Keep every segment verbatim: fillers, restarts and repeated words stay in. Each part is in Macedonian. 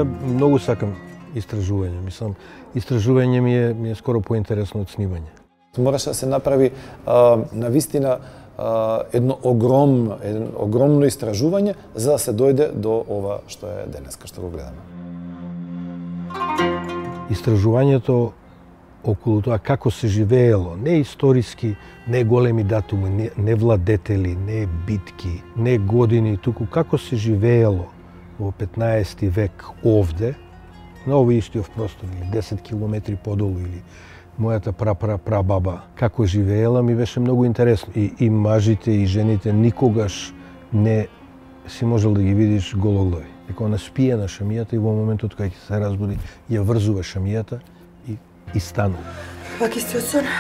многу сакам истражување. Мислам, истражување ми е, ми е скоро поинтересно од снимање. Мораше да се направи а, навистина а, едно огромно, едно огромно истражување за да се дојде до ова што е денеска што го гледаме. Истражувањето околу тоа како се живеело, не историски, не големи датуми, не, не владетели, не битки, не години, туку како се живеело во петнаесети век овде, на овој истиот простор, или десет километри подолу, или мојата пра-пра-пра-баба, како живеела, ми беше многу интересно. И, и мажите, и жените никогаш не си можел да ги видиш гологлави. Дека она спие на шамијата и во моментот кога ќе се разбуди, ја врзува шамијата и, и станува. Пак истиот сон.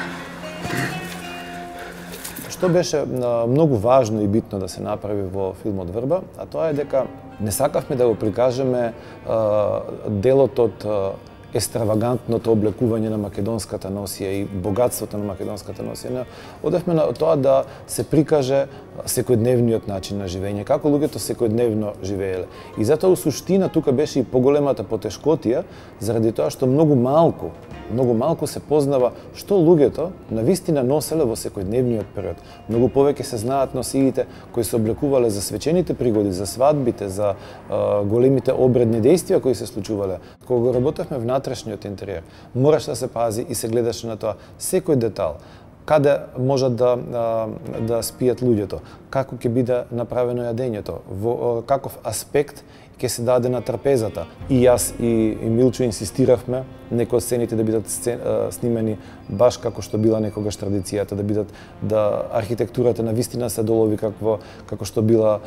Што беше многу важно и битно да се направи во филмот Врба, а тоа е дека не сакавме да го прикажеме а, делот од а, естравагантното облекување на македонската носија и богатството на македонската носија. Одевме на тоа да се прикаже секојдневниот начин на живење, како луѓето секојдневно живееле. И затоа у суштина тука беше и поголемата потешкотија, заради тоа што многу малку, многу малку се познава што луѓето навистина носеле во секојдневниот период. Многу повеќе се знаат носиите кои се облекувале за свечените пригоди, за свадбите, за а, големите обредни дејствија кои се случувале. Кога го работевме внатрешниот интериер, мораш да се пази и се гледаше на тоа секој детал. Каде можат да, да спијат луѓето, како ќе биде направено јадењето, во каков аспект ќе се даде на трапезата. И јас и, и Милчо инсистиравме некои од сцените да бидат сцен, снимени баш како што била некогаш традицијата, да бидат да архитектурата на вистина се долови како како што била